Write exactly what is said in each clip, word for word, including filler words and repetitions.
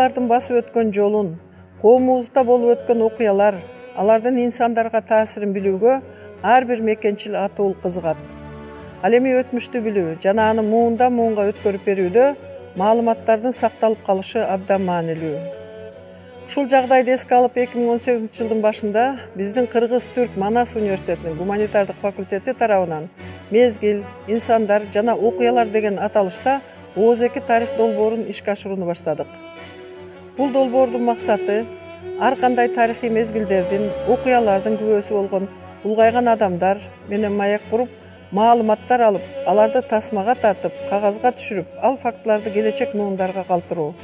бабалардын басып өткөн жолун, коомубузда болуп өткөн окуялар, алардын инсандарга таасирин билүүгө ар бир мекенчил атуул кызыгат. Ал эми өтмүштү билүү жана аны муундан муунга өткөрүп берүүдө маалыматтардын сакталып калышы абдан маанилүү. Ушул жагдайды эске алып, эки миң он сегизинчи жылдын башында биздин Кыргыз-Түрк Манас университетинин гуманитардык факультети тарабынан мезгил, инсандар жана окуялар деген аталышта Оз эки тарих долбоорун ишке ашырууну баштадык. Бул долбоордун максаты ар кандай тарыхый мезгилдердин, окуялардын күбөсү болгон улгайган адамдар менен маек куруп, маалыматтар алып, аларды тасмага тартып, кагазга түшүрүп, ал фактыларды келечек муундарга калтыруу.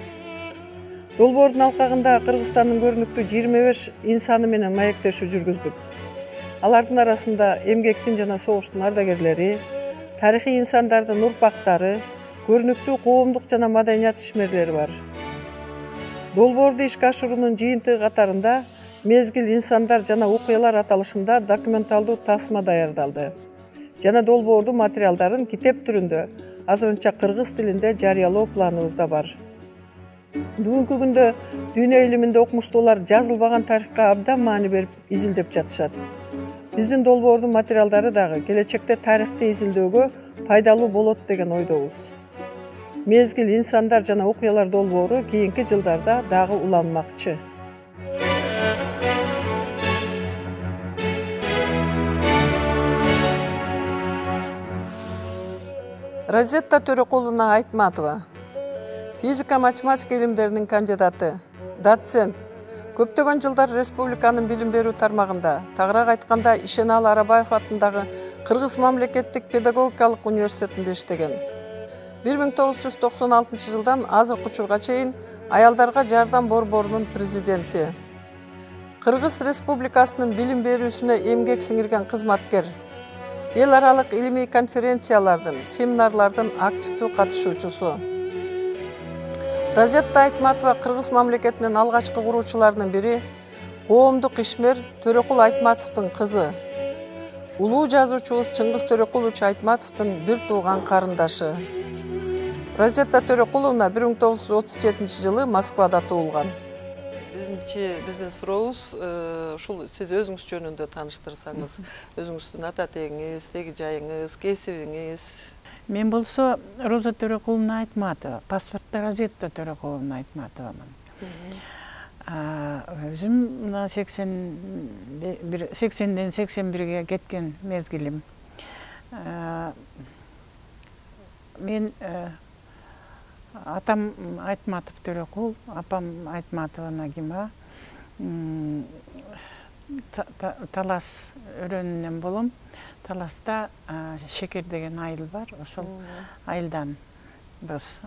Долбоордун алкагында Кыргызстандын көрүнүктүү жыйырма беш инсаны менен маектешүү жүргүздүк. Алардын арасында эмгектин жана согуштун ардагерлери, тарыхый инсандардын урпактары, көрүнүктүү коомдук жана маданият ишмерлери бар. Долбоорду ишке ашыруунун жыйынтыгы катарында мезгил, инсандар жана окуялар аталышында документалдуу тасма даярдалды жана долбоордун материалдарын китеп түрүндө азырынча кыргыз тилинде жарыялоо планыбызда бар. Бүгүнкү күндө дүйнө илиминде окумуштуулар жазылбаган тарыхка абдан маани берип изилдеп жатышат. Биздин долбоордун материалдары дагы келечекте тарыхты изилдөөгө пайдалуу болот деген ойдобуз. Мезгил, инсандар жана окуялар долбоору кийинки жылдарда дагы уланмакчы. Розетта Төрөкуловна Айтматова, физика-математика илимдеринин кандидаты, доцент. Көптөгөн жылдар республиканын билим берүү тармагында, тагыраак айтканда Ишеналы Арабаев атындагы Кыргыз мамлекеттик педагогикалык университетинде иштеген. бир миң тогуз жүз токсон алтынчы жылдан азыркы учурга чейин Аялдарга жардам борборунун президенти. Кыргыз Республикасынын билим берүүсүнө эмгек сиңирген кызматкер. Эл аралык илимий конференциялардын, семинарлардын активдүү катышуучусу. Розетта Айтматова Кыргыз мамлекетинин алгачкы куруучуларынын бири, коомдук ишмер Төрөкул Айтматовдун кызы. Улуу жазуучубуз Чыңгыз Төрөкулович Айтматовдун бир тууган карындашы. Розетта Төрөкуловна бир миң тогуз жүз отуз жетинчи жылы Москвада туулган. Бизинчи биздин сурообуз ушул сиз өзүңүз жөнүндө тааныштырсаңыз, өзүңүздүн ата тегиңиз, теги жайыңыз, кесибиңиз. Мен болсо Роза Төрөкуловна Айтматова, паспортто Розетта Төрөкуловна Айтматовамын. Өзүм мына сексенден сексен бирге кеткен мезгилим. Мен атам Айтматов Төрөкул, апам Айтматова Нагима. Талас өрөөнүнөн болом. Таласта Шекер деген айыл бар. Ошол айылдан биз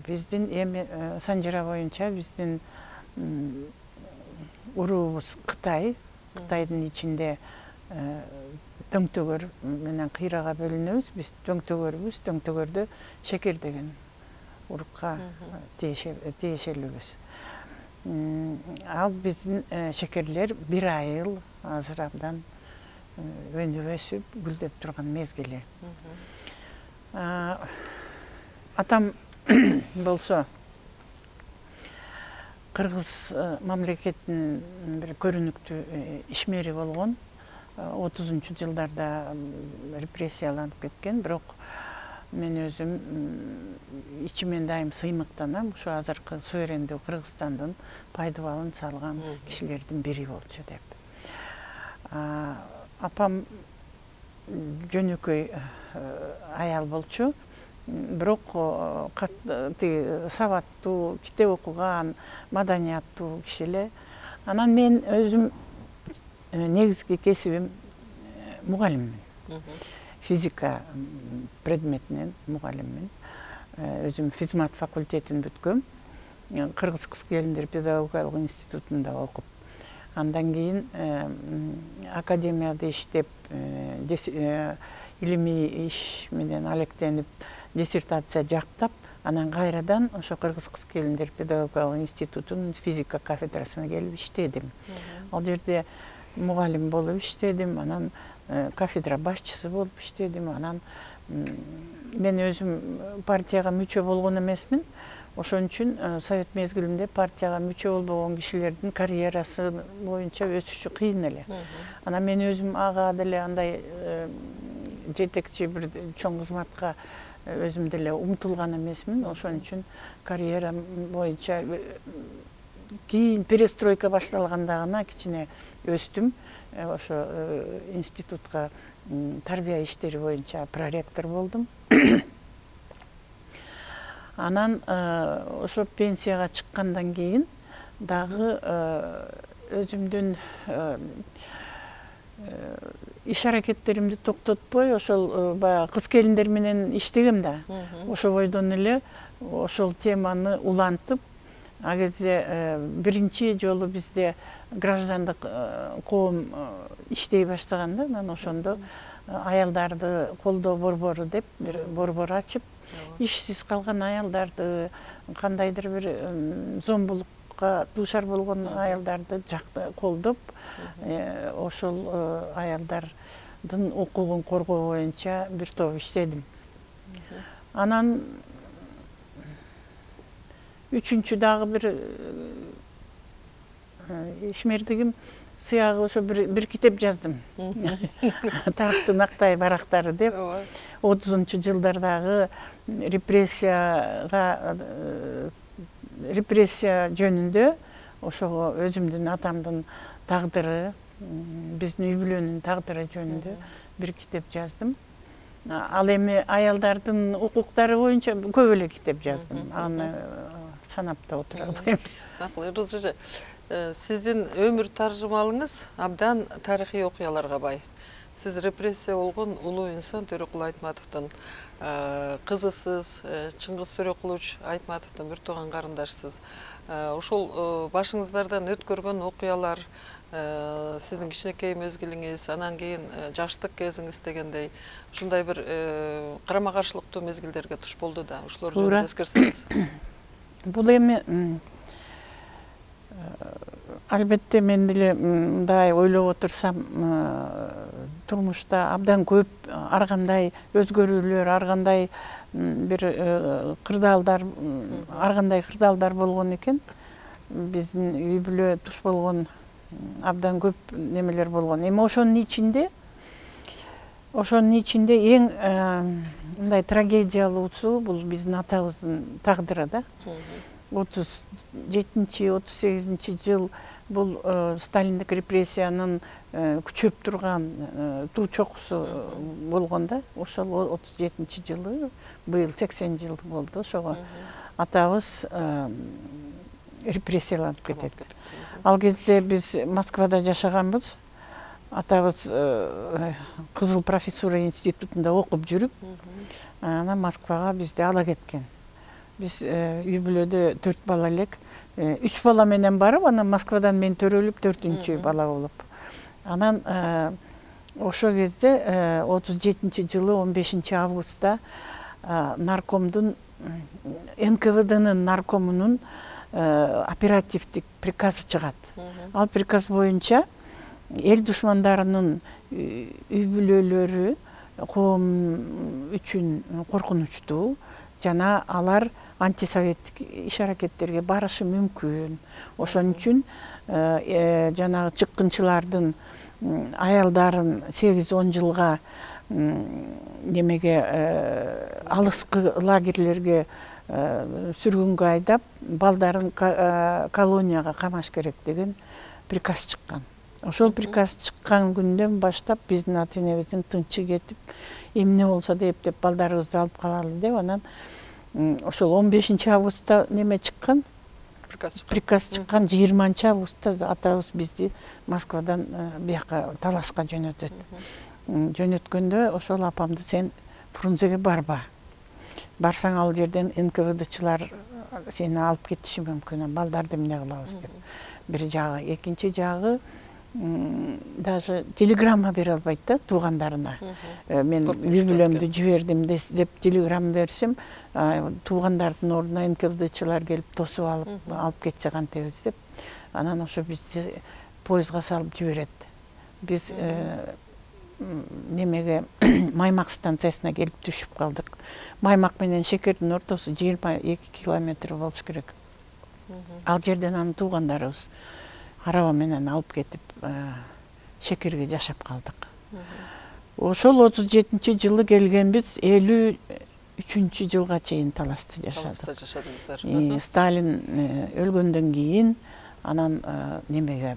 биздин эми санжыра боюнча биздин уруубуз Кытай. Кытайдын ичинде Дөңтөгөр менен кыйрага бөлүнөбүз. Биз Дөңтөгөрбүз. Дөңтөгөрдө Шекер деген урукка тиешелүүбүз. Ал биздин шекерлер бир айыл азыр абдан өнүп өсүп, гүлдөп турган мезгили. Атам болсо Кыргыз мамлекетинин бир көрүнүктүү ишмери болгон. отузунчу жылдарда репрессияланып кеткен, бирок мен өзүм ичимен дайым сыймыктанам, ушу азыркы суверендүү Кыргызстандын пайдубалын салган кишилердин бири болчу деп. Апам жөнөкөй аял болчу, бирок сабаттуу, китеп окуган, маданияттуу киши эле. Анан мен өзүм негизги кесибим мугалиммин. Физика предметинен мугалиммин. Өзүм физмат факультетин бүткөм. Кыргыз кыз келиндер педагогикалык институтунда окуп, андан кийин академияда иштеп, илимий иш менен алектенип, диссертация жактап, анан кайрадан ошо Кыргыз кыз келиндер педагогикалык институтунун физика кафедрасына келип иштедим. Ал жерде мугалим болуп иштедим, анан кафедра башчысы болуп иштедим, анан мен өзүм партияга мүчө болгон эмесмин. Ошон үчүн совет мезгилинде партияга мүчө болбогон кишилердин карьерасы боюнча өсүшү кыйын эле. Анан мен өзүм ага деле андай жетекчи бир чоң кызматка өзүм деле умтулган эмесмин. Ошон үчүн карьера боюнча кийин перестройка башталганда гана кичине өстүм. Ошо институтка тарбия иштери боюнча проректор болдум. Анан ошо пенсияга чыккандан кийин дагы өзүмдүн иш аракеттеримди токтотпой ошол баягы кыз келиндер менен иштегем да. Ошо бойдон эле ошол теманы улантып, а кезде биринчи жолу бизде граждандык коом иштей баштаган да. Анан ошондо аялдарды колдоо борбору деп бир борбор ачып, ишсиз калган аялдарды, кандайдыр бир зомбулукка дуушар болгон аялдарды жакты колдоп, ошол аялдардын укугун коргоо боюнча бир топ иштедим. Анан үчүнчү дагы бир ишмердигим сыягы ошо бир китеп жаздым. Тарыхтын актай барактары деп. отузунчу жылдардагы репрессияга репрессия жөнүндө ошого өзүмдүн атамдын тагдыры, биздин үй бүлөнүн тагдыры жөнүндө бир китеп жаздым. Ал эми аялдардын укуктары боюнча көп эле китеп жаздым. Аны санап да отура албайм. Макул, Роза эже, сиздин өмүр таржымалыңыз абдан тарыхый окуяларга бай. Сиз репрессия болгон улуу инсан Төрөкул Айтматовдун кызысыз, Чыңгыз Төрөкулович Айтматовдун бир тууган карындашсыз. Ошол башыңыздардан өткөргөн окуялар, сиздин кичинекей мезгилиңиз, анан кийин жаштык кезиңиз дегендей, ушундай бир карама каршылыктуу мезгилдерге туш болду да. Ошолор жөнүндө эскерсеңиз. Бул эми албетте мен деле мындай ойлоп отурсам, турмушта абдан көп ар кандай өзгөрүүлөр, ар кандай бир кырдаалдар, ар кандай кырдаалдар болгон экен. Биздин үй бүлө туш болгон абдан көп немелер болгон. Эми ошонун ичинде ошонун ичинде эң мындай трагедиялуусу бул биздин атабыздын тагдыры да. отуз жетинчи отуз сегизинчи жыл бул сталиндик репрессиянын күчөп турган туу чокусу болгон да. Ошол отуз жетинчи жылы, быйыл сексен жыл болду. Ошого атабыз репрессияланып кетет. Ал кезде биз Москвада жашаганбыз. Атабыз Кызыл профессура институтунда окуп жүрүп, анан Москвага бизди ала кеткен. Биз үй бүлөдө төрт бала элек. Үч бала менен барып, анан Москвадан мен төрөлүп, төртүнчү бала болуп. Анан ошол кезде отуз жетинчи жылы он бешинчи августта наркомдун, эн ка вэ дэнын наркомунун оперативдик приказы чыгат. Ал приказ боюнча эл душмандарынын үй бүлөлөрү коом үчүн коркунучтуу жана алар антисоветтик иш аракеттерге барышы мүмкүн. Ошон үчүн жанагы чыккынчылардын аялдарын сегиз он жылга немеге алыскы лагерлерге сүргүнгө айдап, балдарын колонияга камаш керек деген приказ чыккан. Ошол приказ чыккан күндөн баштап биздин ата энебиздин тынчы кетип, эмне болсо деп деп балдарыбызды алып калалы деп, анан ошол он бешинчи августта неме чыккан, приказ чыккан, жыйырманчы августта атабыз бизди Москвадан бияка Таласка жөнөтөт. Жөнөткөндө ошол апамды сен Фрунзеге барба. Барсаң ал жерден эн ка вэ дычылар сени алып кетиши мүмкүн, балдарды эмне кылабыз деп. Бир жагы, экинчи жагы даже телеграмма бере албайт да туугандарына. Мен үй бүлөмдү жибердим деп телеграмма берсем, туугандардын ордуна эн ка вэ дычылар келип тосуп алып, алып кетсе кантебиз деп. Анан ошо бизди поездга салып жиберет. Биз немеге Маймак станциясына келип түшүп калдык. Маймак менен Шекердин ортосу жыйырма эки километр болуш керек. Ал жерден анын туугандарыбыз араба менен алып кетип Шекерге жашап калдык. Ошол отуз жетинчи жылы келгенбиз, элүү үчүнчү жылга чейин Таласта жашадык. Сталин өлгөндөн кийин анан немеге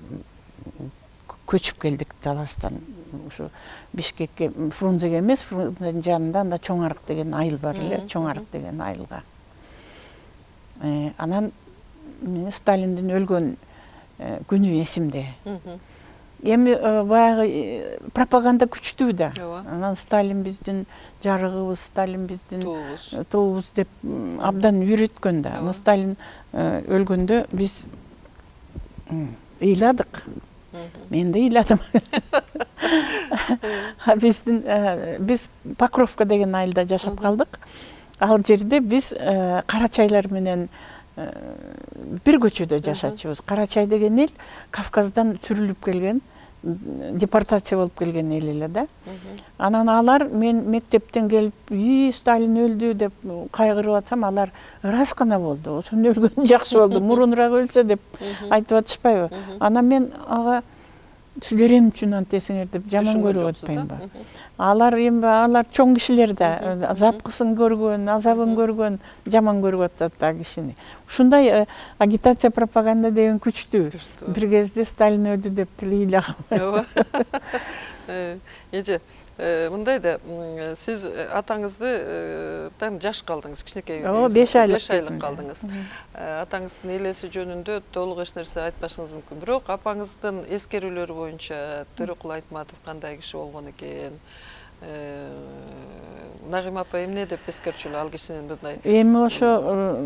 көчүп келдик Таластан. Ушу Бишкекке, Фрунзеге эмес, Фрунзенин жанында анда Чоң Арык деген айыл бар эле, Чоң Арык деген айылга. Анан Сталиндин өлгөн күнү эсимде. Эми баягы пропаганда күчтүү да. Анан Сталин биздин жарыгыбыз, Сталин биздин туубуз деп абдан үйрөткөн да. Анан Сталин өлгөндө биз ыйладык. Мен да ыйладым. Биздин биз Покровка деген айылда жашап калдык. Ал жерде биз Карачайлар менен бир көчөдө жашачубуз. Карачай деген эл Кавказдан сүрүлүп келген, депортация болуп келген эл эле да. Анан алар мен мектептен келип, "И, Сталин өлдү" деп кайгырып атсам, алар ырас гана болду. Ошондо өлгөн жакшы болду, мурунураак өлсө деп айтып атышпайбы? Анан мен ага силер эмне үчүн антесиңер деп жаман көрүп атпаймынбы? Алар эми алар чоң кишилер да, запкысын көргөн, азабын көргөн, жаман көрүп атат да кишини. Ушундай агитация, пропаганда деген күчтүү. Бир кезде Сталин өлдү деп тилейлагам. Эже, мындай да, сиз атаңыздан жаш калдыңыз, кичинекей. Ооба, беш айлык калдыңыз. Атаңыздын элеси жөнүндө толук эч нерсе айтпашыңыз мүмкүн. Бирок апаңыздын эскерүүлөрү боюнча Төрөкул Айтматов кандай киши болгон экен? Нагыйма апа эмне деп эскерчүлү ал кишинин мындай? Эми ошо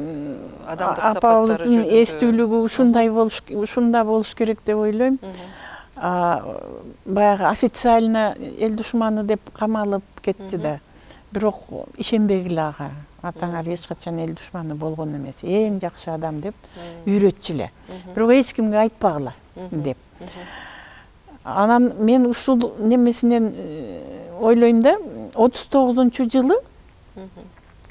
апабыздын эстүүлүгү ушундай болуш, ушунда болуш керек деп ойлойм. Баягы официально эл душманы деп камалып кетти да. Бирок ишенбегиле ага. Атаңар эч качан эл душманы болгон эмес, эң жакшы адам деп үйрөтчү эле. Бирок эч кимге айтпагыла деп. Анан мен ушул немесинен ойлойм да, отуз тогузунчу жылы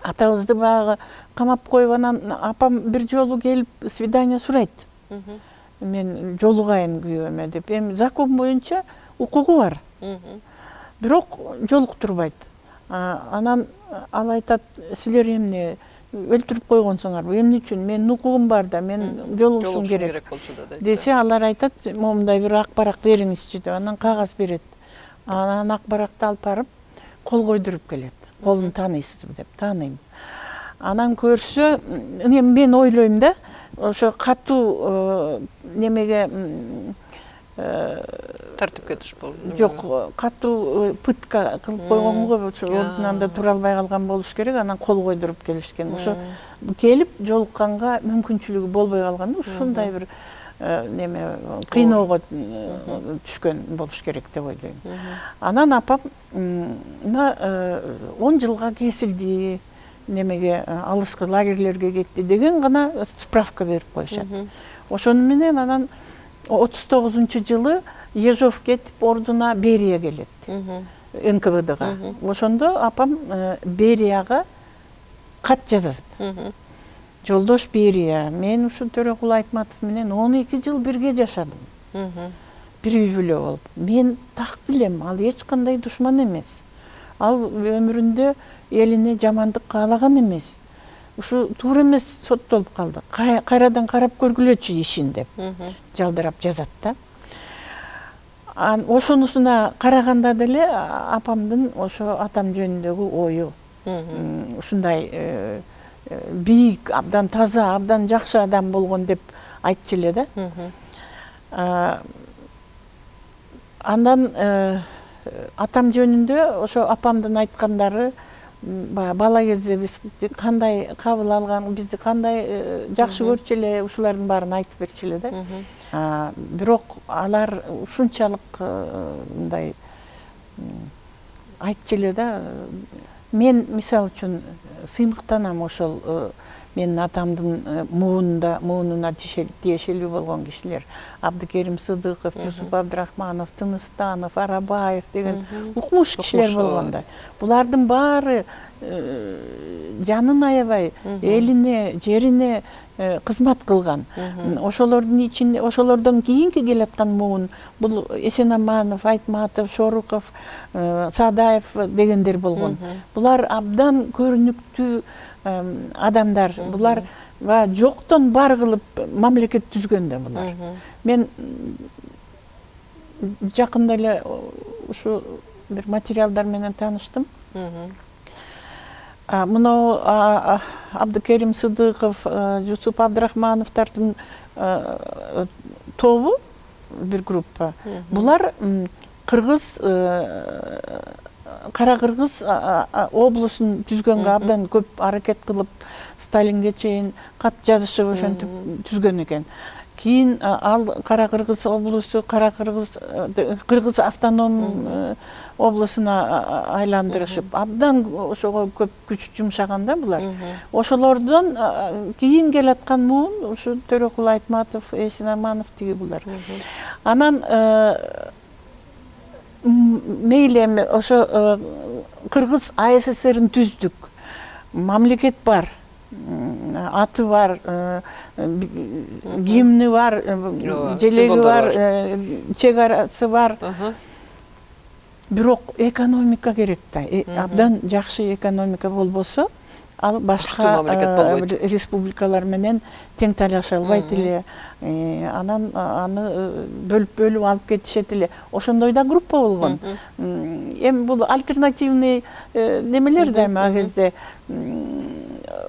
атабызды баягы камап коюп, анан апам бир жолу келип свидание сурайт. Мен жолугайын күйөөмө деп. Эми закон боюнча укугу бар. Бирок жолуктурбайт. Анан ал айтат, силер эмне өлтүрүп койгонсуңарбы? Эмне үчүн? Менин укугум бар да, мен жолугушум керек десе, алар айтат, момундай бир ак барак бериңизчи деп. Анан кагаз берет. Анан ак баракты алып барып, кол койдуруп келет. Колун тааныйсызбы деп. Тааныйм. Анан көрсө, мен ойлойм да, ошо катуу немеге тартипке туш болду. Жок, катуу пытка кылып койгонго ордунанда тура албай калган болуш керек, анан кол койдуруп келишкен. Ошо келип жолукканга мүмкүнчүлүгү болбой калганда, ушундай бир неме кыйноого түшкөн болуш керек деп ойлойм. Анан апам он жылга кесилди, немеге алыскы лагерлерге кетти деген гана справка берип коюшат. Ошону менен анан отуз тогузунчу жылы Ежов кетип ордуна Берия келет. эн ка вэ дэга. Ошондо апам Берияга кат жазат. Жолдош Берия, мен ушу Төрөкул Айтматов менен он эки жыл бирге жашадым. Бир үй бүлө болуп. Мен так билем, ал эч кандай душман эмес. Ал өмүрүндө элине жамандык каалаган эмес. Ушу туура эмес соттолуп калды. Кайрадан карап көргүлөчү ишин деп жалдырап жазат да. Ошонусуна караганда деле апамдын ошо атам жөнүндөгү ою ушундай бийик, абдан таза, абдан жакшы адам болгон деп айтчу эле да. Андан атам жөнүндө ошо апамдын айткандары, бала кезде биз кандай кабыл алган, бизди кандай жакшы көрчү эле, ушулардын баарын айтып берчү эле да. Бирок алар ушунчалык мындай айтчу эле да. Мен мисалы үчүн сыймыктанам ошол менин атамдын муунда муунуна тиешелүү болгон кишилер. Абдыкерим Сыдыков, Жусуп Абдрахманов, Тыныстанов, Арабаев деген укмуш кишилер болгондой. Булардын баары жанын аябай элине, жерине кызмат кылган. Ошолордун ичинде, ошолордон кийинки келаткан муун бул Эсенаманов, Айтматов, Шоруков, Саадаев дегендер болгон. Булар абдан көрүнүктүү адамдар. Булар жоктон бар кылып мамлекет түзгөн да булар. Мен жакында эле ушу бир материалдар менен тааныштым. Мына Абдыкерим Сыдыков, Жусуп Абдрахмановдардын тобу бир группа. Булар Кыргыз, Кара Кыргыз облусун түзгөнгө абдан көп аракет кылып, Сталинге чейин кат жазышып ошентип түзгөн экен. Кийин ал Кара Кыргыз облусу Кара Кыргыз Кыргыз автоном облусуна айландырышып, абдан ошого көп күч жумшаганда булар. Ошолордон кийин келаткан муун ушу Төрөкул Айтматов, Эсенаманов тиги булар. Анан мейли эми ошо Кыргыз А С С Р'ин түздүк. Мамлекет бар. Аты бар, гимни бар, желеги бар, чек арасы бар. Бирок экономика керек да. Абдан жакшы экономика болбосо, ал башка республикалар менен тең талаша албайт эле. Анан аны бөлүп-бөлүп алып кетишет эле. Ошондой да группа болгон. Эми бул альтернативный немелер да эми ал кезде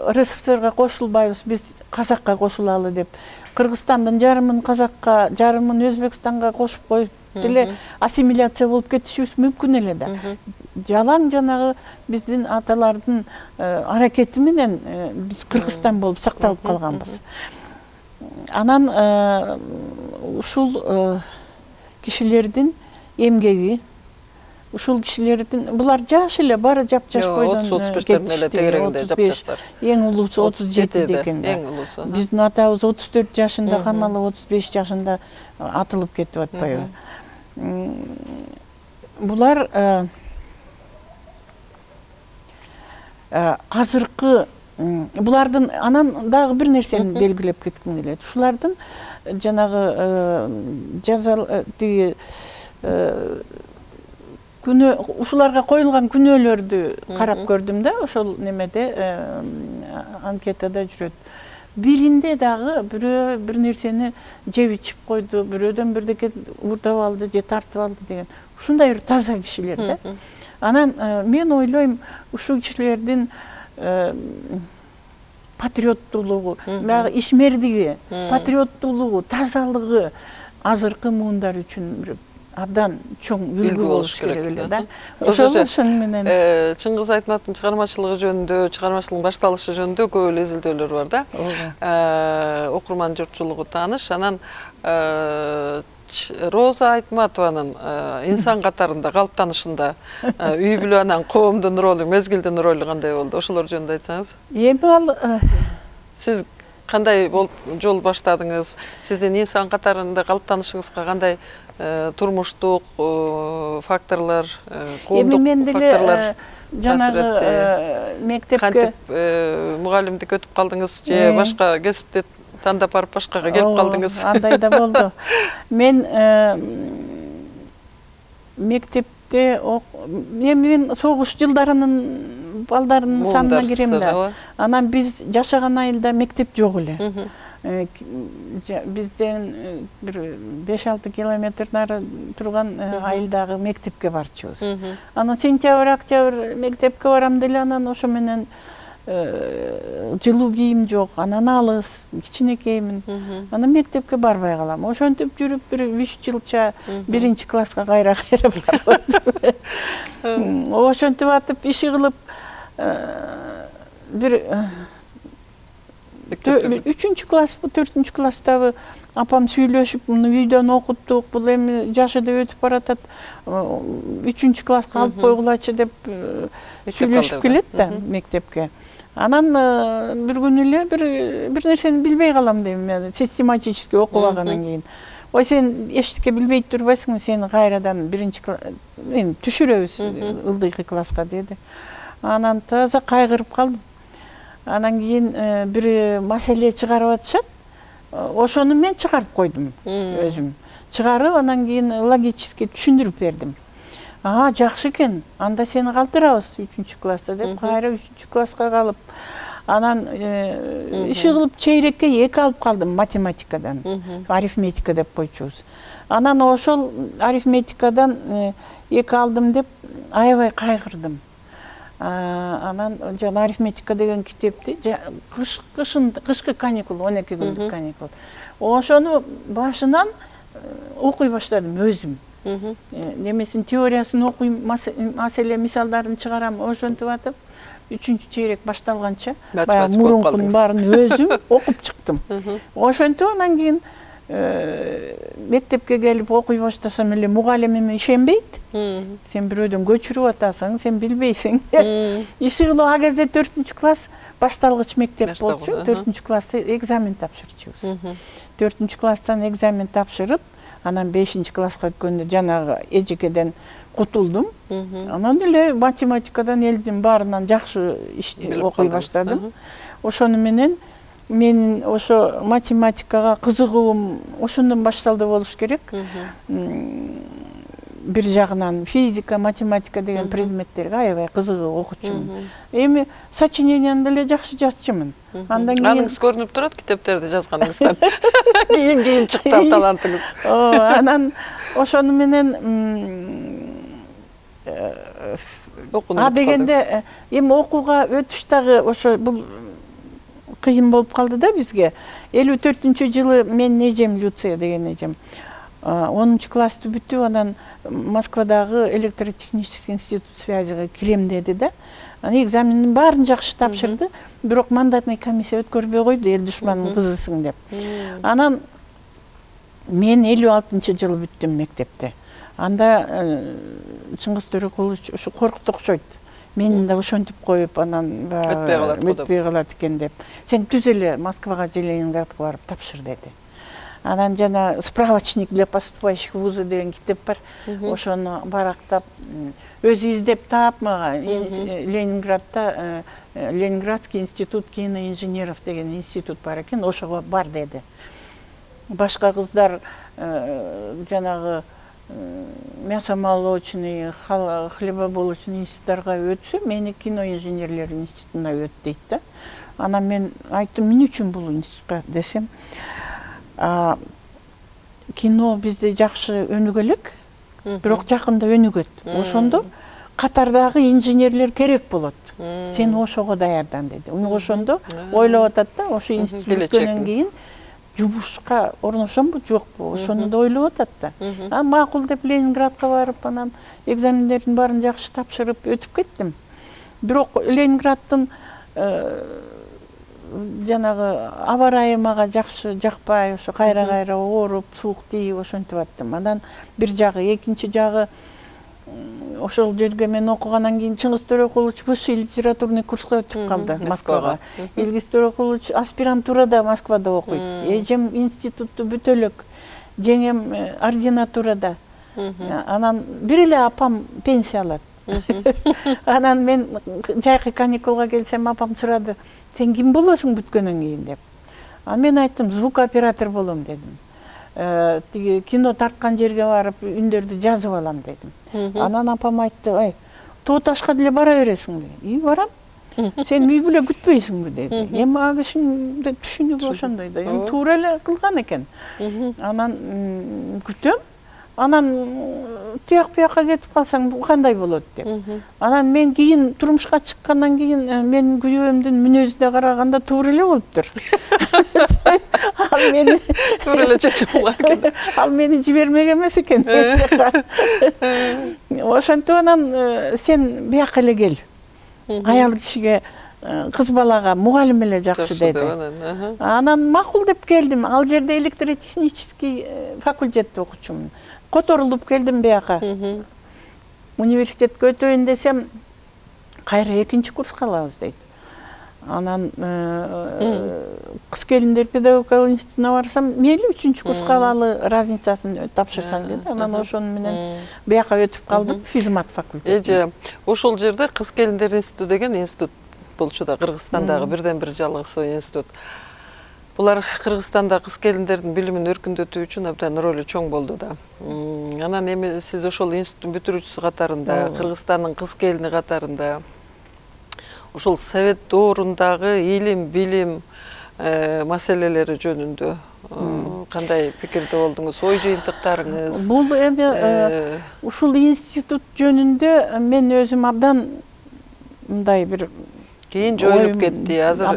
Р С Ф С Р'га кошулбайбыз, биз Казакка кошулалы деп. Кыргызстандын жарымын Казакка, жарымын Өзбекстанга кошуп коюп деле ассимиляция болуп кетишибиз мүмкүн эле да. Жалаң жанагы биздин аталардын аракети менен биз Кыргызстан болуп сакталып калганбыз. Анан ушул кишилердин эмгеги, ушул кишилердин булар жаш эле, баары жап-жаш бойдон кетишти. Эң улуусу отуз жети деген. Биздин атабыз отуз төрт жашында, Каналы отуз беш жашында атылып кетип атпайбы. Булар азыркы булардын анан дагы бир нерсени белгилеп кетким келет. Ушулардын жанагы жаза тиги күнөө ушуларга коюлган күнөөлөрдү карап көрдүм да, ошол немеде анкетада жүрөт. Биринде дагы бирөө бир нерсени жеп ичип койду, бирөөдөн бирдеке уурдап алды же тартып алды деген. Ушундай бир таза кишилер да. Анан мен ойлойм, ушул кишилердин патриоттуулугу, баягы ишмердиги, патриоттуулугу, тазалыгы азыркы муундар үчүн абдан чоң үлгү болуш керек эле да. Ошол менен Чыңгыз Айтматовдун чыгармачылыгы жөнүндө, чыгармачылыгынын башталышы жөнүндө көп эле изилдөөлөр бар да. Окурман журтчулугу тааныш. Анан Роза Айтматованын инсан катарында калыптанышында үй бүлө анан коомдун ролу, мезгилдин ролу кандай болду? Ошолор жөнүндө айтсаңыз. Эми ал сиз кандай болуп жол баштадыңыз? Сиздин инсан катарында калыптанышыңызга кандай турмуштук факторлор, коомдук факторлор жанагы мектепке кантип мугалимдик өтүп калдыңыз же башка кесипти тандап барып башкага келип калдыңыз? Андай да болду. Мен мектепте мен согуш жылдарынын балдарынын санына кирем да. Анан биз жашаган айылда мектеп жок эле. Бизден бир беш алты километр нары турган айылдагы мектепке барчубуз. Анан сентябрь, октябрь мектепке барам деле, анан ошо менен жылуу кийим жок, анан алыс, кичинекеймин. Анан мектепке барбай калам. Ошентип жүрүп бир үч жылча биринчи класска кайра-кайра барып. Ошентип атып иши кылып бир үчүнчү класс, төртүнчү класстабы апам сүйлөшүп, муну үйдөн окуттук, бул эми жашы да өтүп баратат, үчүнчү класска алып койгулачы деп сүйлөшүп келет да мектепке. Анан бир күнү эле бир бир нерсени билбей калам дейм мен, систематически окубагандан кийин. Ой, сен эчтеке билбей турбайсыңбы, сени кайрадан биринчи эми түшүрөбүз ылдыйкы класска деди. Анан таза кайгырып калдым. Анан кийин бир маселе чыгарып атышат. Ошону мен чыгарып койдум өзүм. Чыгарып, анан кийин логически түшүндүрүп бердим. А, жакшы экен. Анда сени калтырабыз үчүнчү класста деп, кайра үчүнчү класска калып, анан иши кылып чейрекке эки алып калдым математикадан. Арифметика деп койчубуз. Анан ошол арифметикадан эки алдым деп аябай кайгырдым. Анан жана арифметика деген китепти кышын кышкы каникул, он эки күндүк каникул. Ошону башынан окуй баштадым өзүм. Немесин теориясын окуйм, маселе мисалдарын чыгарам, ошентип атып, үчүнчү чейрек башталганча баягы мурункунун баарын өзүм окуп чыктым. Ошентип анан кийин мектепке келип окуй баштасам эле мугалимим ишенбейт. Сен бирөөдөн көчүрүп атасың, сен билбейсиң. Иши кылып а кезде төртүнчү класс башталгыч мектеп болчу. төртүнчү класста экзамен тапшырчубуз. төртүнчү класстан экзамен тапшырып, анан бешинчи класска өткөндө жанагы эжекеден кутулдум. Анан эле математикадан элдин баарынан жакшы окуй баштадым. Ошону менен менин ошо математикага кызыгуум ошондон башталды болуш керек. Бир жагынан физика, математика деген предметтерге аябай кызыгып окучумун. Эми сочинениямды деле жакшы жазчумун. Андан кийин аныңыз көрүнүп турат китептерди жазганыңыздан. Кийин кийин чыкты талантыңыз. Анан ошону менен а дегенде эми окууга өтүш дагы ошо бул кыйын болуп калды да бизге. элүү төртүнчү жылы мен эжем Люция деген эжем онунчу классты бүтүп, анан Москвадагы электротехнический институт связига кирем деди да. Анан экзамендин баарын жакшы тапшырды, бирок мандатный комиссия өткөрбөй койду, эл душманынын кызысың деп. Анан мен элүү алтынчы жылы бүттүм мектепте. Анда Чыңгыз Төрөкулович ушу коркуп окшойт. Мени да ошентип коюп, анан өтпөй калат экен деп. Сен түз эле Москвага же Ленинградка барып тапшыр деди. Анан жана справочник для поступающих в вузы деген китеп бар. Ошону барактап, өзү издеп таап мага Ленинградта Ленинградский институт киноинженеров деген институт бар экен, ошого бар деди. Башка кыздар жанагы мясомолочный, хлебобулочный институттарга өтсө, мени киноинженерлер институтуна өт дейт да. Анан мен айттым, эмне үчүн бул институтка десем, кино бизде жакшы өнүгө элек, бирок жакында өнүгөт. Ошондо катардагы инженерлер керек болот. Сен ошого даярдан деди. Ошондо ойлоп атат да, ошо институт бүткөндөн кийин жумушка орношомбу, жокпу, ошону да ойлоп атат да. А макул деп Ленинградка барып, анан экзамендердин баарын жакшы тапшырып өтүп кеттим. Бирок Ленинграддын жанагы аба ырайы мага жакшы жакпай, ошо кайра-кайра ооруп, суук тийип ошентип аттым. Анан бир жагы, экинчи жагы ошол жерге мен окугандан кийин Чыңгыз Төрөкулович высший литературный курска өтүп калды Москвага. Илгиз Төрөкулович аспирантурада Москвада окуйт. Эжем институтту бүтө элек, жеңем ординатурада. Анан бир эле апам пенсия алат. Анан мен жайкы каникулга келсем, апам сурады, сен ким болосуң бүткөндөн кийин деп. Анан мен айттым, звукооператор болом дедим. Тиги кино тарткан жерге барып үндөрдү жазып алам дедим. Анан апам айтты, ай, Тоо Ташка деле бара бересиңби? И, барам. Сен үй бүлө күтпөйсүңбү деди. Эми а кишинин түшүнүгү ошондой да. Эми туура эле кылган экен. Анан күтөм. Анан тияк буякка кетип калсаң кандай болот деп. Анан мен кийин турмушка чыккандан кийин менин күйөөмдүн мүнөзүнө караганда туура эле болуптур. Ал мени туура эле чечип алган. Ал мени жибермек эмес экен. Ошентип анан сен буяка эле кел. Аял кишиге, кыз балага мугалим эле жакшы деди. Анан макул деп келдим. Ал жерде электротехнический факультетте окучумун. Которулуп келдим буяка. Университетке өтөйүн десем, кайра экинчи курска алабыз дейт. Анан кыз келиндер педагогикалык институтуна барсам, мейли үчүнчү курска алалы разницасын тапшырсаң деди. Анан ошону менен бияка өтүп калдым, физмат факультетине. Ошол жерде кыз келиндер институту деген институт болчу да, Кыргызстандагы бирден бир жалгысы институт. Булар Кыргызстанда кыз келиндердин билимин өркүндөтүү үчүн абдан ролу чоң болду да. Анан эми сиз ошол институттун бүтүрүүчүсү катарында, Кыргызстандын кыз келини катарында ошол совет доорундагы илим, билим маселелери жөнүндө кандай пикирде болдуңуз? Ой жыйынтыктарыңыз? Бул эми ушул институт жөнүндө мен өзүм абдан мындай бир кийин жоюлуп кетти. Азыр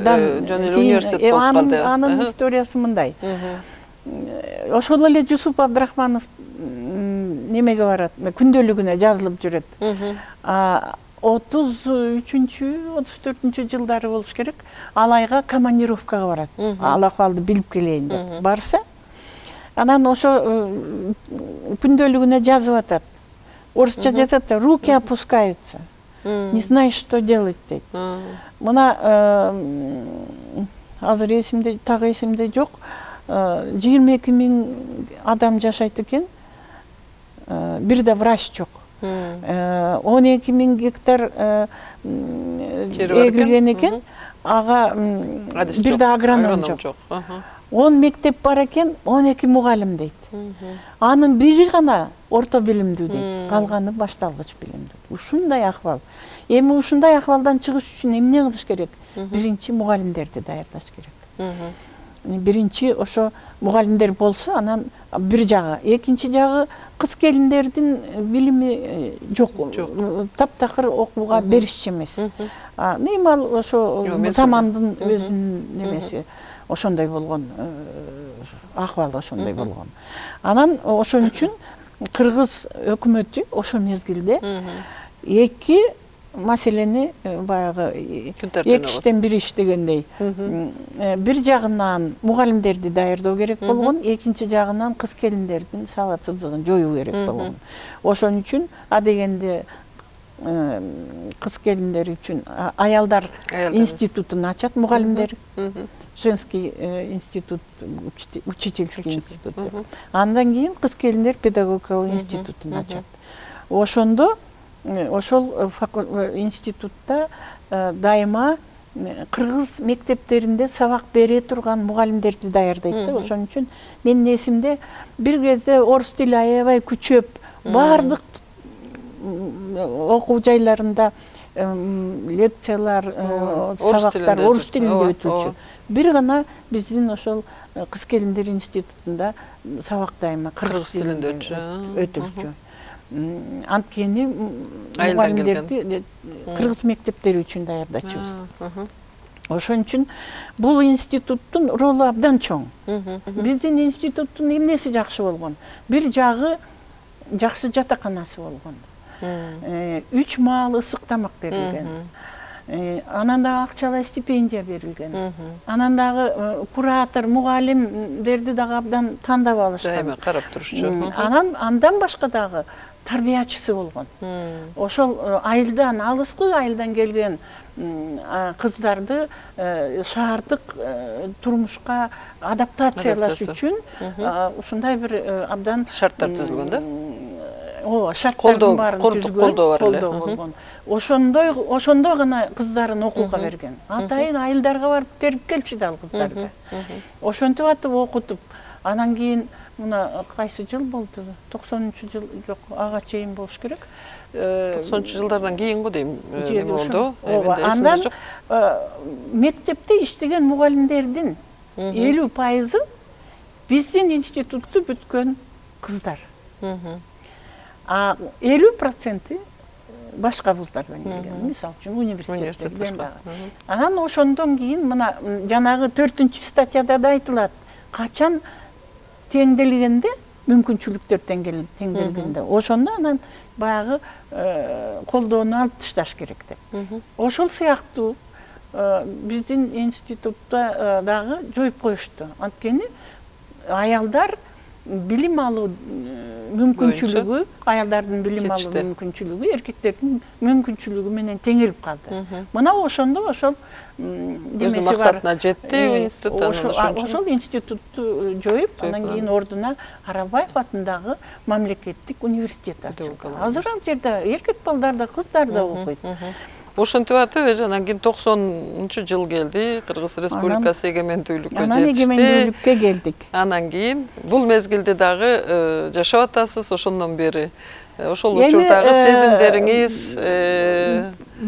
жөн эле университет болуп калды. Анын историясы мындай. Ошол эле Жусуп Абдрахманов немеге барат, күндөлүгүнө жазылып жүрөт. отуз үчүнчү, отуз төртүнчү жылдары болуш керек. Алайга командировкага барат. Ал акыбалды билип келейин деп. Барса, анан ошо күндөлүгүнө жазып атат. Орусча жазат, руки опускаются. Не знаешь, что делать дейт. Мына азыр эсимде, так эсимде жок. жыйырма эки миң адам жашайт экен. Бир да врач жок. он эки миң гектар эгилген экен. Ага бир да агроном жок. он мектеп бар экен, он эки мугалим дейт. Анын бири гана орто билимдүү дейт. Калганы башталгыч билимдүү. Ушундай акыбал. Эми ушундай акыбалдан чыгыш үчүн эмне кылыш керек? Биринчи мугалимдерди даярдаш керек. Биринчи ошо мугалимдер болсо, анан бир жагы, экинчи жагы кыз келиндердин билими жок. Таптакыр окууга беришчи эмес. Эми ал ошо замандын өзүнүн немеси ошондой болгон, акыбалы ошондой болгон. Анан ошон үчүн Кыргыз өкмөтү ошол мезгилде эки маселени баягы эки иштен бир иш дегендей. Бир жагынан мугалимдерди даярдоо керек болгон, экинчи жагынан кыз келиндердин сабатсыздыгын жоюу керек болгон. Ошон үчүн а дегенде кыз келиндер үчүн аялдар институтун ачат мугалимдер. Женский институт, учительский институт. Андан кийин кыз келиндер педагогикалык институтун ачат. Ошондо ошол институтта дайыма кыргыз мектептеринде сабак бере турган мугалимдерди даярдайт да. Ошон үчүн менин эсимде бир кезде орус тили аябай күчөп, бардык окуу жайларында лекциялар, сабактар орус тилинде өтүлчү. Бир гана биздин ошол кыз келиндер институтунда сабак дайыма кыргыз тилинде өтүлчү. Анткени мугалимдерди кыргыз мектептери үчүн даярдачубуз. Ошон үчүн бул институттун ролу абдан чоң. Биздин институттун эмнеси жакшы болгон? Бир жагы жакшы жатаканасы болгон. Үч маал ысык тамак берилген. Анан дагы акчалай стипендия берилген. Анан дагы куратор, мугалимдерди дагы абдан тандап алышкан. Дайыма карап турушчу. Анан андан башка дагы тарбиячысы болгон. Ошол айылдан, алыскы айылдан келген кыздарды шаардык турмушка адаптациялаш үчүн ушундай бир абдан шарттар түзүлгөн да? Ооба, шарттардын баарын түзгөн, колдоо болгон. Ошондой ошондой гана кыздарын окууга берген. Атайын айылдарга барып терип келчү да ал кыздарды. Ошентип атып окутуп, анан кийин мына кайсы жыл болду? токсонунчу жыл жок, ага чейин болуш керек. токсонунчу жылдардан кийин го дейм, болду. Ооба, андан мектепте иштеген мугалимдердин элүү пайызы биздин институтту бүткөн кыздар. А элүү проценти башка вуздардан келген, мисалы үчүн университеттерден дагы. Анан ошондон кийин мына жанагы төртүнчү статьяда да айтылат, качан теңделгенде, мүмкүнчүлүктөр теңделгенде, ошондо анан баягы колдоону алып ташташ керек деп. Ошол сыяктуу биздин институтта дагы жоюп коюшту. Анткени аялдар билим алуу мүмкүнчүлүгү, аялдардын билим алуу мүмкүнчүлүгү эркектердин мүмкүнчүлүгү менен теңелип калды. Мына ошондо ошол демеси бар. Максатына жетти институт. Ошол институтту жоюп, анан кийин ордуна Арабаев атындагы мамлекеттик университет ачылды. Азыр ал жерде эркек балдар да, кыздар да окуйт. Ошентип атып, анан кийин токсонунчу жыл келди, Кыргыз Республикасы эгемендүүлүккө жетишти. Анан эгемендүүлүккө келдик. Анан кийин бул мезгилде дагы жашап атасыз ошондон бери. Ошол учурдагы сезимдериңиз,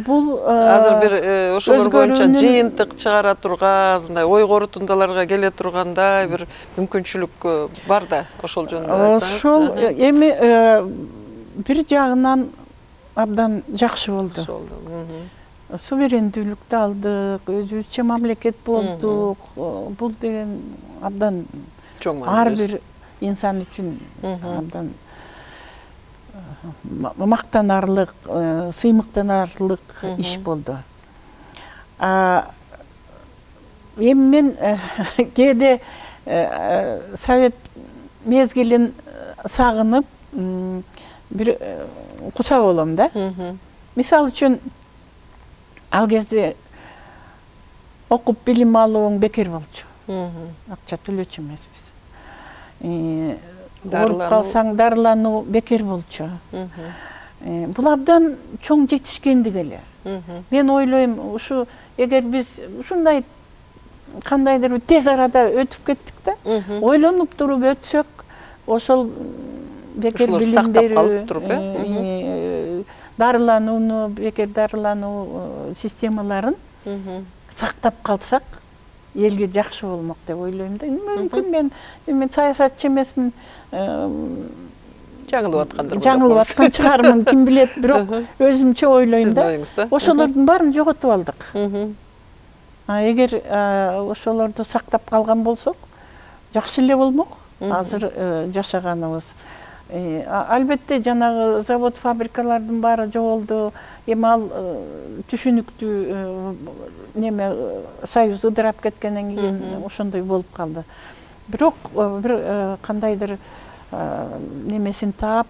бул азыр бир ошолор боюнча жыйынтык чыгара турган, мындай ой корутундаларга келе тургандай бир мүмкүнчүлүк бар да, ошол жөнүндө айтсаңыз. Ошол эми бир жагынан абдан жакшы болду. Суверендүүлүктү алдык, өзүбүзчө мамлекет болдук. Бул деген абдан ар бир инсан үчүн абдан мактанарлык, сыймыктанарлык иш болду. Эми мен кээде совет мезгилин сагынып бир куса болом да. Мисалы үчүн ал кезде окуп билим алууң бекер болчу. Акча төлөчү эмеспиз. Ооруп калсаң дарылануу бекер болчу. Бул абдан чоң жетишкендик эле. Мен ойлойм, ушу эгер биз ушундай кандайдыр тез арада өтүп кеттик да, ойлонуп туруп өтсөк, ошол бекер билим берүү, дарыланууну, бекер дарылануу системаларын сактап калсак, элге жакшы болмок деп ойлойм да. Мүмкүн мен мен саясатчы эмесмин, жаңылып аткандар. Жаңылып аткан чыгармын, ким билет, бирок өзүмчө ойлойм да. Ошолордун баарын жоготуп алдык. А эгер ошолорду сактап калган болсок, жакшы эле болмок. Азыр жашаганыбыз. Албетте жанагы завод, фабрикалардын баары жоголду. Эми ал түшүнүктүү неме союз ыдырап кеткенден кийин ошондой болуп калды. Бирок бир кандайдыр немесин таап,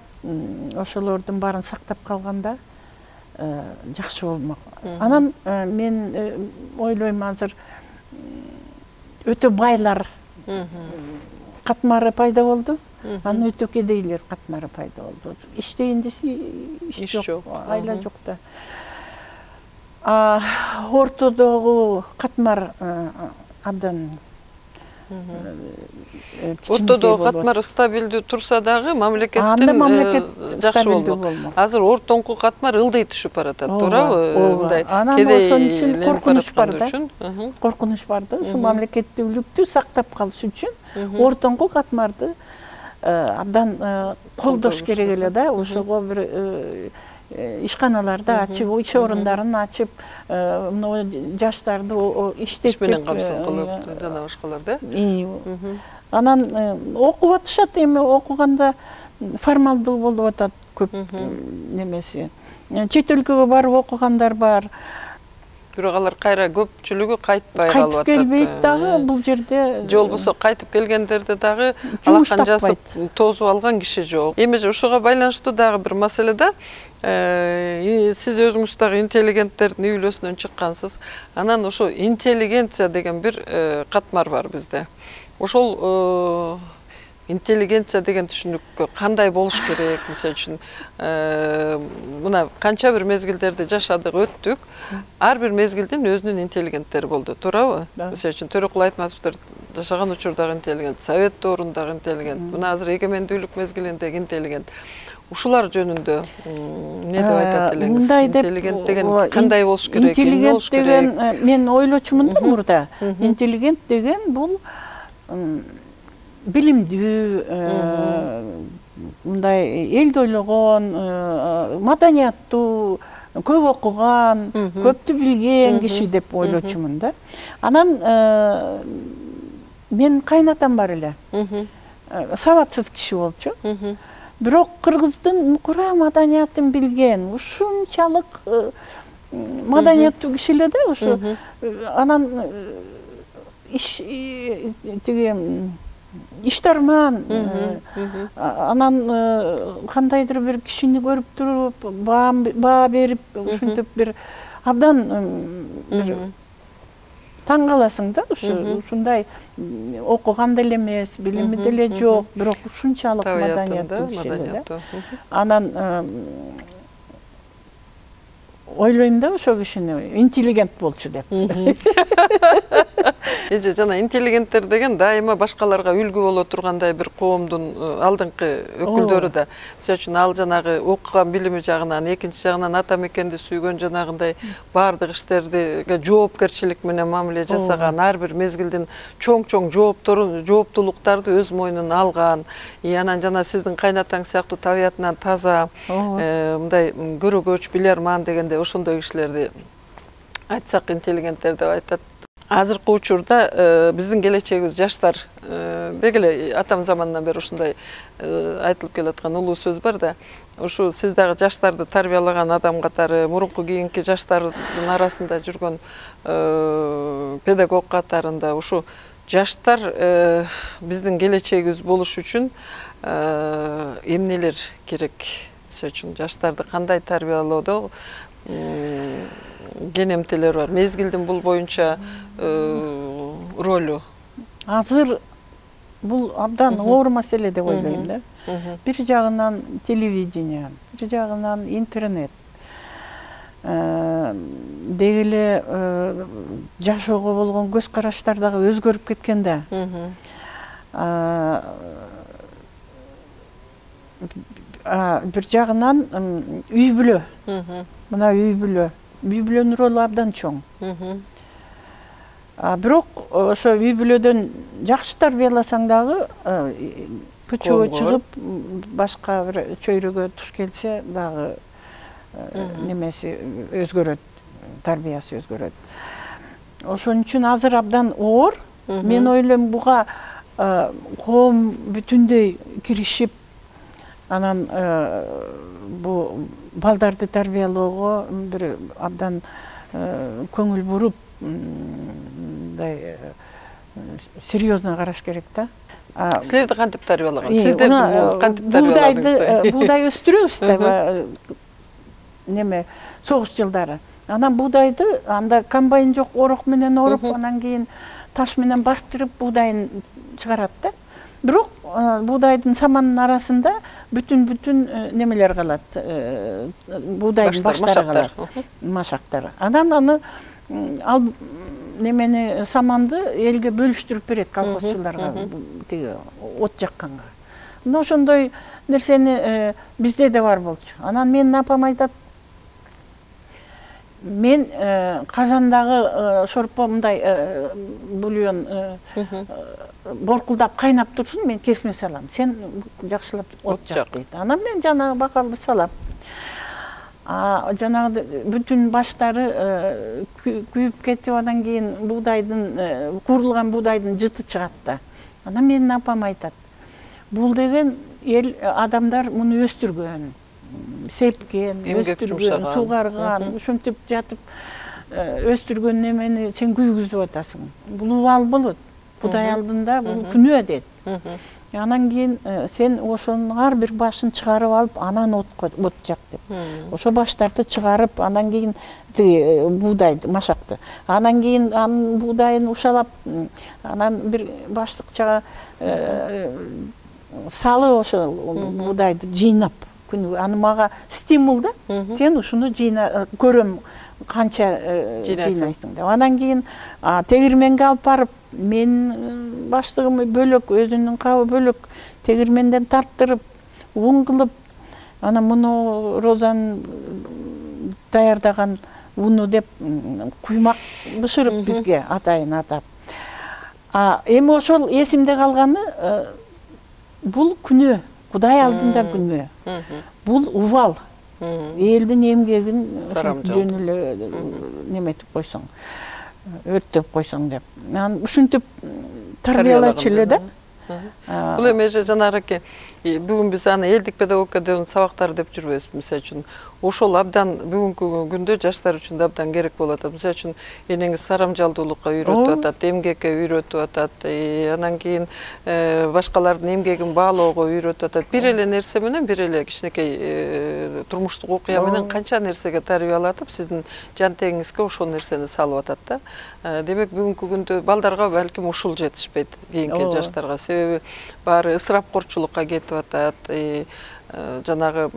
ошолордун баарын сактап калганда жакшы болмок. Анан мен ойлойм, азыр өтө байлар катмары пайда болду. Анын өтө кедейлер катмары пайда болду. Иштейин десе иш жок, айла жок да. Ортодогу катмар абдан ортодогу катмар стабилдүү турса дагы мамлекеттин жакшы болду. Азыр ортоңку катмар ылдый түшүп баратат, туурабы? Мындай кедей коркунуч бар да. Коркунуч бар да. Ушу мамлекеттүүлүктү сактап калыш үчүн ортоңку катмарды абдан колдош керек эле да. Ошого бир ишканаларды ачып, иш орундарын ачып, мына жаштарды иштетип менен камсыз кылып, жана башкалар да. Анан окуп атышат, эми окуганда формалдуу болуп атат көп немеси. Чет өлкөгө барып окугандар бар. Бирок алар кайра көпчүлүгү кайтпай калып атат. Кайтып келбейт дагы бул жерде. Же болбосо кайтып келгендерде дагы алакан жасып тозуп алган киши жок. Эми ушуга байланыштуу дагы бир маселе да. Сиз өзүңүз дагы интеллигенттердин үй бүлөсүнөн чыккансыз. Анан ошо интеллигенция деген бир катмар бар бизде. Ошол интеллигенция деген түшүнүккө кандай болуш керек? Мисалы үчүн, мына канча бир мезгилдерди жашадык, өттүк. Ар бир мезгилдин өзүнүн интеллигенттери болду, туурабы? Мисалы үчүн Төрөкул Айтматовдор жашаган учурдагы интеллигент, совет доорундагы интеллигент, мына азыр эгемендүүлүк мезгилиндеги интеллигент. Ушулар жөнүндө эмне деп айтат элеңиз? Интеллигент деген кандай болуш керек? Интеллигент деген, мен ойлочумун да мурда. Интеллигент деген бул билимдүү, мындай элди ойлогон, маданияттуу, көп окуган, көптү билген киши деп ойлочумун да. Анан мен кайнатам бар эле. Сабатсыз киши болчу. Бирок кыргыздын мукура маданиятын билген, ушунчалык маданияттуу киши эле да, ушу. Анан иш тиги иштарман, анан кандайдыр бир кишини көрүп туруп, баа берип, ушинтип бир абдан бир таң каласың да, ушундай окуган деле эмес, билими деле жок, бирок ушунчалык маданияттуу киши да. Анан ойлойм да ошол кишини интеллигент болчу деп. Эже жана интеллигенттер деген дайыма башкаларга үлгү боло тургандай бир коомдун алдыңкы өкүлдөрү да. Мисалы үчүн ал жанагы окуган билими жагынан, экинчи жагынан ата мекенди сүйгөн жанагындай баардык иштерге жоопкерчилик менен мамиле жасаган, ар бир мезгилдин чоң-чоң жоопторун, жооптулуктарды өз мойнуна алган. Анан жана сиздин кайнатаң сыяктуу табиятынан таза, мындай көрөгөч, билерман дегенде ошондой кишилерди айтсак интеллигенттер деп айтат. Азыркы учурда биздин келечегибиз жаштар деги эле атам заманынан бери ушундай айтылып келаткан улуу сөз бар да. Ушу сиз дагы жаштарды тарбиялаган адам катары, мурунку кийинки жаштардын арасында жүргөн педагог катарында ушу жаштар биздин келечегибиз болуш үчүн эмнелер керек? Мисалы үчүн жаштарды кандай тарбиялоодо кенемтелер бар. Мезгилдин бул боюнча ролу. Азыр бул абдан оор маселе деп ойлойм да. Бир жагынан телевидение, бир жагынан интернет. Деги эле жашоого болгон көз караштар дагы өзгөрүп кеткен да. Бир жагынан үй бүлө. Мына үй бүлө. Үй бүлөнүн ролу абдан чоң. Бирок ошо үй бүлөдөн жакшы тарбияласаң дагы көчөгө чыгып башка бир чөйрөгө туш келсе дагы немеси өзгөрөт, тарбиясы өзгөрөт. Ошон үчүн азыр абдан оор. Мен ойлойм буга коом бүтүндөй киришип, анан бу балдарды тарбиялоого бир абдан көңүл буруп, мындай серьезно караш керек да. Силерди кантип тарбиялаган? Сиздерди кантип тарбияладыңыз? Буудай өстүрөбүз да, неме согуш жылдары. Анан буудайды, анда комбайн жок, орок менен оруп, анан кийин таш менен бастырып буудайын чыгарат да. Бирок буудайдын саманын арасында бүтүн-бүтүн немелер калат, буудайдын баштары калат, машактар. Анан аны ал немени саманды элге бөлүштүрүп берет колхозчуларга, тиги от жакканга. Мына ошондой нерсени бизде да бар болчу. Анан менин апам айтат, мен казандагы шорпо мындай бульон боркулдап кайнап турсун, мен кесме салам. Сен жакшылап от жак дейт. Анан мен жанагы бакалды салам. Жанагы бүтүн баштары күйүп кетип, анан кийин буудайдын, куурулган буудайдын жыты чыгат да. Анан менин апам айтат, бул деген эл адамдар муну өстүргөн, сепкен, өстүргөн, сугарган, ушинтип жатып өстүргөн немени сен күйгүзүп атасың. Бул убал болот. Кудай алдында бул күнөө дейт. Анан кийин сен ошонун ар бир башын чыгарып алып, анан от жак деп. Ошо баштарды чыгарып, анан кийин буудайды, машакты. Анан кийин анын буудайын ушалап, анан бир баштыкчага салып ошо буудайды жыйнап, аны мага стимул да. Сен ушуну жыйна, көрөм канча жыйнайсың деп. Анан кийин тегирменге алып барып, мен баштыгым бөлөк, өзүнүн кабы бөлөк, тегирменден тарттырып, ун кылып, анан муну розанын даярдаган уну деп куймак бышырып бизге атайын атап. Эми ошол эсимде калганы, бул күнөө, Кудай алдында күнөө. Бул убал. Элдин эмгегин жөн эле неметип койсоң, өрттөп койсоң деп. Ушинтип тарбиялачу эле да. Бул эми жанагы бүгүн биз аны элдик педагогиканын сабактары деп жүрбөйбүз. Мисалы үчүн ошол абдан бүгүнкү күндө жаштар үчүн да абдан керек болуп атат. Мисалы үчүн энеңиз сарамжалдуулукка үйрөтүп атат, эмгекке үйрөтүп атат, анан кийин башкалардын эмгегин баалоого үйрөтүп атат. Бир эле нерсе менен, бир эле кичинекей турмуштук окуя менен канча нерсеге тарбиялатып, сиздин жан теңиңизге ошол нерсени салып атат да. Демек бүгүнкү күндө балдарга балким ушул жетишпейт, кийинки жаштарга. Себеби баары ысырапкорчулукка кетип атат. Жанагы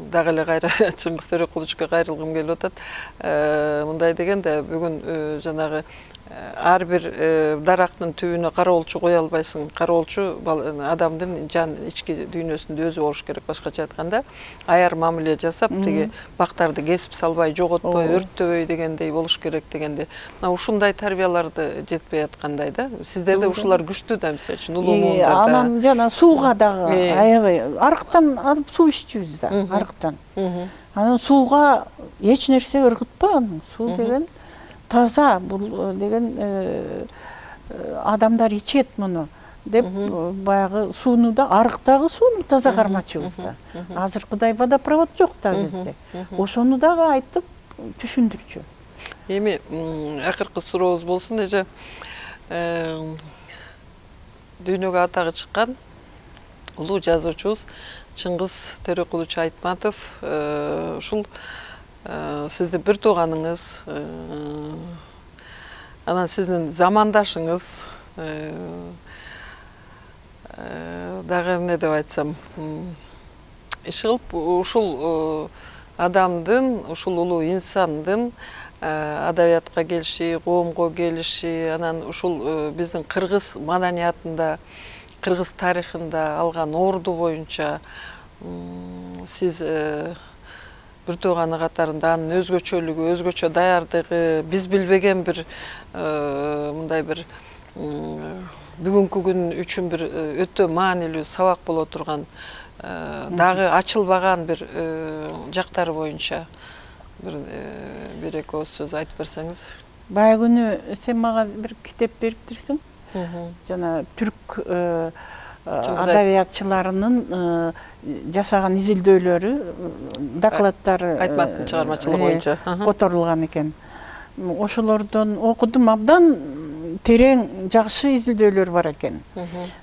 дагы эле кайра Чыңгыз Төрекуловичке кайрылгым келип атат. Мындай дегенде бүгүн жанагы ар бир дарактын түбүнө кароолчу кое албайсың. Кароолчу адамдын жан ички дүйнөсүндө өзү болуш керек. Башкача айтканда, аяр мамиле жасап, тиги бактарды кесип салбай, жоготпой, өрттөбөй дегендей болуш керек дегенде. Мына ушундай тарбияларды жетпей аткандай да. Сиздерде ушулар күчтүү да, мисалы үчүн улуу муундарда. Анан жана сууга дагы аябай арыктан алып суу иччүбүз да, арыктан. Анан сууга эч нерсе ыргытпаган. Суу деген таза, бул деген адамдар ичет муну деп баягы сууну да, арыктагы сууну таза кармачубуз да. Азыркыдай водопровод жок да бизде. Ошону дагы айтып түшүндүрчү. Эми акыркы сурообуз болсун, эже дүйнөгө атагы чыккан улуу жазуучубуз Чыңгыз Төрекулович Айтматов ушул сизди бир тууганыңыз, анан сиздин замандашыңыз, дагы эмне деп айтсам, иш кылып ушул адамдын, ушул улуу инсандын адабиятка келиши, коомго келиши, анан ушул биздин кыргыз маданиятында, кыргыз тарыхында алган орду боюнча сиз бир тууганы катарында анын өзгөчөлүгү, өзгөчө даярдыгы, биз билбеген бир мындай бир бүгүнкү күн үчүн бир өтө маанилүү сабак боло турган, дагы ачылбаган бир жактары боюнча бир бир эки ооз сөз айтып берсеңиз. Баягы күнү сен мага бир китеп бериптирсиң. Жана түрк адабиятчыларынын жасаган изилдөөлөрү, докладдары Айтматтын чыгармачылыгы боюнча которулган экен. Ошолордон окудум, абдан терең, жакшы изилдөөлөр бар экен.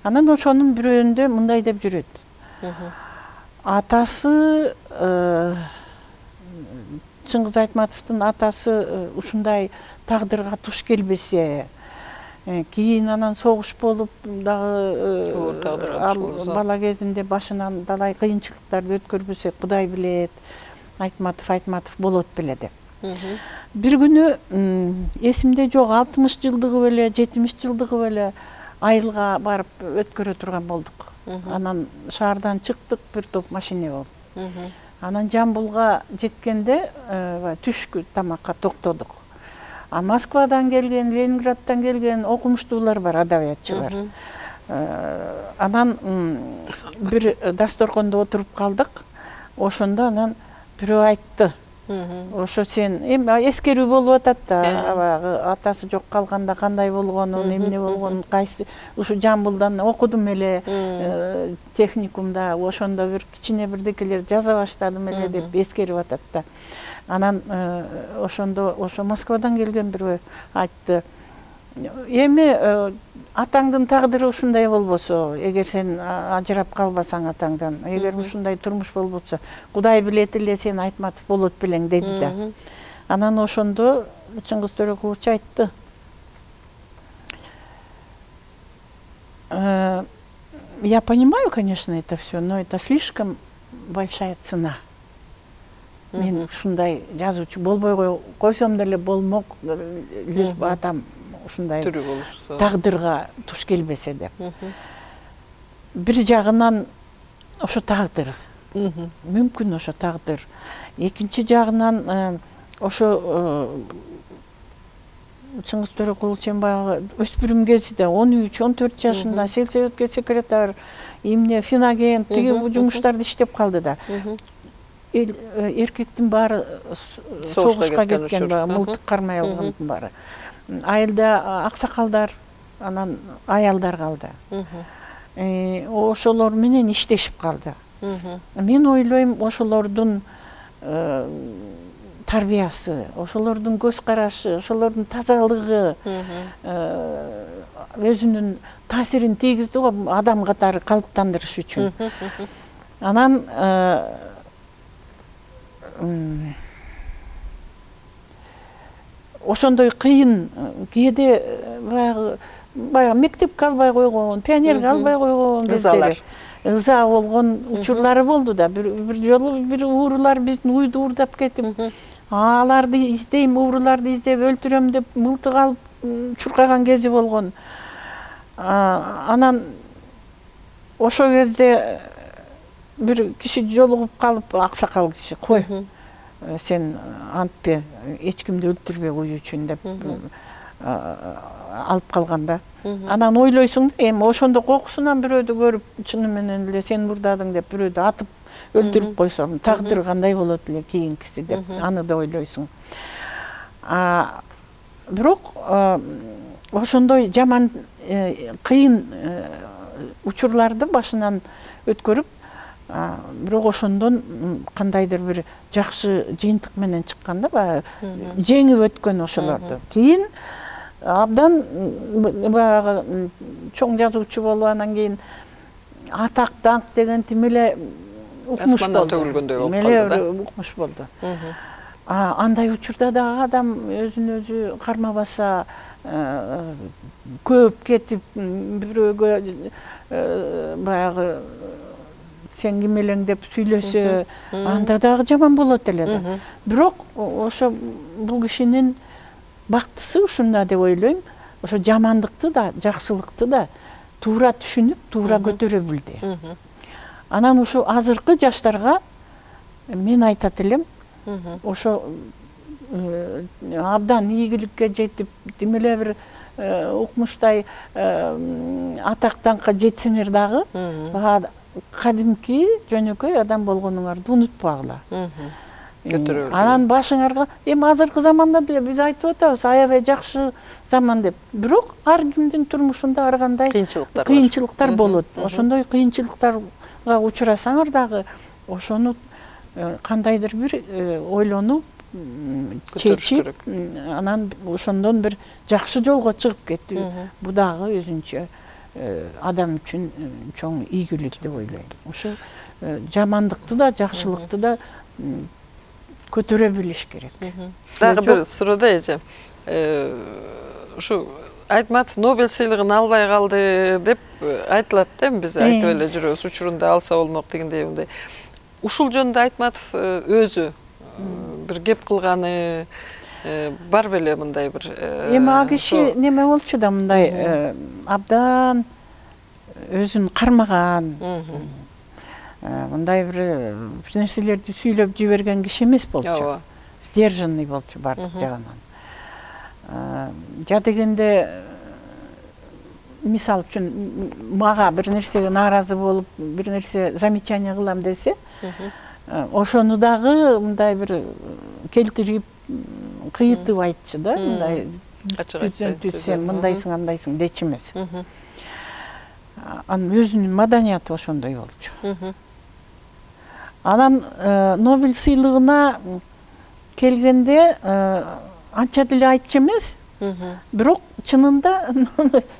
Анан ошонун бирөөндө мындай деп жүрөт. Атасы, Чыңгыз Айтматовдун атасы ушундай тагдырга туш келбесе, кийин анан согуш болуп дагы бала кезинде башынан далай кыйынчылыктарды өткөрбөсө, Кудай билет, Айтматов Айтматов болот беле деп. Бир күнү эсимде жок, алтымыш жылдыгы беле, жетимиш жылдыгы беле айылга барып өткөрө турган болдук. Анан шаардан чыктык, бир топ машине болуп. Анан Жамбулга жеткенде түшкү тамакка токтодук. А Москвадан келген, Ленинграддан келген окумуштуулар бар, адабиятчылар. Анан бир дасторкондо отуруп калдык. Ошондо анан бирөө айтты. Ошо сен эми эскерүү болуп атат да, атасы жок калганда кандай болгонун, эмне болгонун, кайсы ушу Жамбулдан окудум эле, техникумда, ошондо бир кичине бирдекелер жаза баштадым эле деп эскерип атат да. Анан ошондо ошо Москвадан келген бирөө айтты. Эми атаңдын тагдыры ушундай болбосо, эгер сен ажырап калбасаң атаңдан, эгер ушундай турмуш болбосо, Кудай билет эле сен Айтматов болот белең деди да. Анан ошондо Чыңгыз Төрекулович айтты. Я понимаю, конечно, это все, но это слишком большая цена. Мен ушундай жазуучу болбой койсом деле болмок, лишь бы атам ушундай тагдырга туш келбесе деп. Бир жагынан ошо тагдыр. Мүмкүн ошо тагдыр. Экинчи жагынан ошо Чыңгыз Төрекулович баягы өспүрүм кезинде он үч он төрт жашында сельсоветке секретарь, эмне финоген, тиги жумуштарды иштеп калды да. Эркектин баары согушка кеткен, мылтык кармай алгандын баары. Айылда аксакалдар анан аялдар калды. Ошолор менен иштешип калды. Мен ойлойм, ошолордун тарбиясы, ошолордун көз карашы, ошолордун тазалыгы өзүнүн таасирин тийгизди го адам катары калыптандырыш үчүн. Анан ошондой кыйын, кээде баягы баягы мектепке албай койгон, пионерге албай койгон кездери ыза болгон учурлары болду да. Бир жолу бир уурулар биздин уйду уурдап кетип, аларды издейм, ууруларды издеп өлтүрөм деп мылтык алып чуркаган кези болгон. Анан ошол кезде бир киши жолугуп калып, аксакал киши, кой, сен антпе, эч кимди өлтүрбө уй үчүн деп алып калганда. Анан ойлойсуң да, эми ошондо кокусунан бирөөдү көрүп, чыны менен эле сен мурдадың деп бирөөдү атып өлтүрүп койсом, тагдыр кандай болот эле кийинкиси деп аны да ойлойсуң. Бирок ошондой жаман кыйын учурларды башынан өткөрүп, бирок ошондон кандайдыр бир жакшы жыйынтык менен чыкканда, баягы жеңип өткөн ошолорду. Кийин абдан баягы чоң жазуучу болуп, анан кийин атак даңк деген тим эле укмуш болду. Меле укмуш болду. Андай учурда да адам өзүн өзү кармабаса, көп кетип бирөөгө баягы сен ким элең деп сүйлөсө, анда дагы жаман болот эле да. Бирок ошо бул кишинин бактысы ушунда деп ойлойм. Ошо жамандыкты да, жакшылыкты да туура түшүнүп, туура көтөрө билди. Анан ушу азыркы жаштарга мен айтат элем, ошо абдан ийгиликке жетип, тим эле бир укмуштай атак даңкка жетсеңер дагы, кадимки жөнөкөй адам болгонуңарды унутпагыла. Анан башыңарга, эми азыркы заманда деле биз айтып атабыз, аябай жакшы заман деп. Бирок ар кимдин турмушунда ар кандай кыйынчылыктар болот. Ошондой кыйынчылыктарга учурасаңар дагы, ошону кандайдыр бир ойлонуп, чечип, анан ошондон бир жакшы жолго чыгып кетти. Бу дагы өзүнчө адам үчүн чоң ийгилик деп ойлойм. Ошо жамандыкты да, жакшылыкты да көтөрө билиш керек. Дагы бир суроо эже. Ушу Айтматов Нобель сыйлыгын албай калды деп айтылат да, биз айтып эле жүрөбүз, учурунда алса болмок дегендей мындай. Ушул жөнүндө Айтматов өзү бир кеп кылганы бар беле мындай бир. Эми а киши неме болчу да, мындай абдан өзүн кармаган, мындай бир нерселерди сүйлөп жиберген киши эмес болчу. Сдержанный болчу бардык жагынан. Жа дегенде, мисал үчүн мага бир нерсеге нааразы болуп, бир нерсе замечание кылам десе, ошону дагы мындай бир келтирип, кыйытып айтчу да, мындай түзсем, мындайсың, андайсың дечи эмес. Анын өзүнүн маданияты ошондой болчу. Анан Нобель сыйлыгына келгенде анча деле айтчу эмес, бирок чынында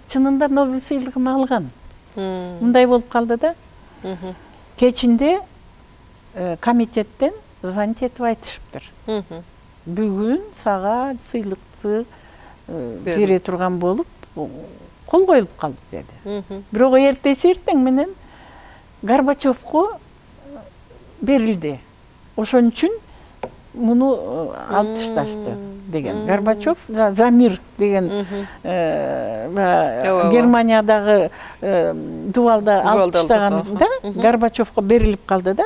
чынында Нобель сыйлыгын алган. Мындай болуп калды да. Кечинде комитеттен звонить этип айтышыптыр. Бүгүн сага сыйлыкты бере турган болуп, кол коюлуп калды деди. Бирок эртеси эртең менен Горбачевко берилди. Ошон үчүн муну алып ташташты деген. Горбачев за мир деген Германиядагы дубалда алып таштаганда Горбачевко берилип калды да.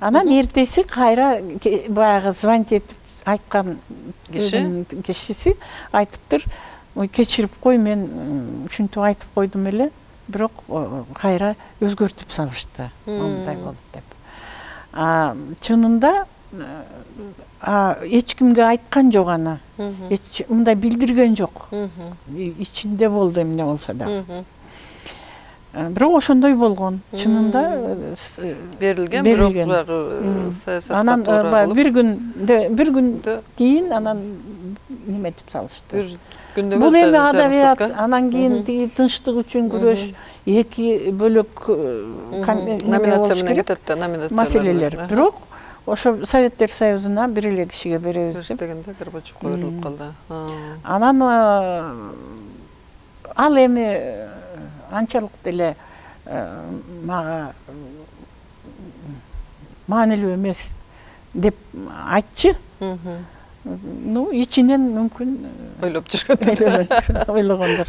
Анан эртеси кайра баягы звонить этип айткан кишиси айтыптыр, ой кечирип кой, мен ушинтип айтып койдум эле, бирок кайра өзгөртүп салышты, мындай болуп деп. Чынында эч кимге айткан жок аны. Эч мындай билдирген жок. Ичинде болду эмне болсо да. Бирок ошондой болгон. Чынында берилген, бирок саясатка анан бир күн бир күн кийин анан неметип салышты. Бул эми адабият, анан кийин тиги тынчтык үчүн күрөш, эки бөлөк номинация менен кетет да, номинация маселелер. Бирок ошо Советтер Союзуна бир эле кишиге беребиз деп. Дегенде Горбачев койрулуп калды. Анан ал эми анчалык деле мага маанилүү эмес деп айтчы. Ну, ичинен мүмкүн ойлоп жүргөн. Ойлогондор.